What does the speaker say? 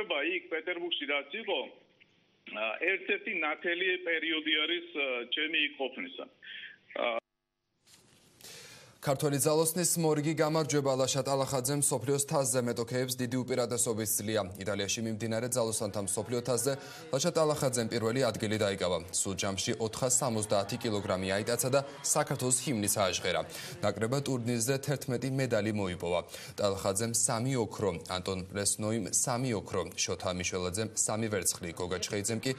გამარჯვება იქ პეტერბურგში რაც იყო ერთ-ერთი ნათელი პერიოდი არის ჩემი იქ ყოფნისა. ქართველი ძალოსნის მორიგი გამარჯვება ლაშა ტალახაძემ მსოფლიოს თასზე მეტოქეებს დიდი უპირატესობის ძლია. იტალიაში მიმდინარე ძალოსანთა მსოფლიო თასზე ლაშა ტალახაძემ პირველი ადგილი დაიკავა. სულ ჯამში 470 კილოგრამი აიტაცა და საქართველოს ჰიმნიც ააჟღერა. ნაკრებად ტურნირზე 11 მედალი მოიპოვა. ტალახაძემ 3 ოქრო, ანტონ პრესნოიმ 3 ოქრო, შოთა მიშველაძემ 3 ვერცხლი, გოგა ჩხეიძემ კი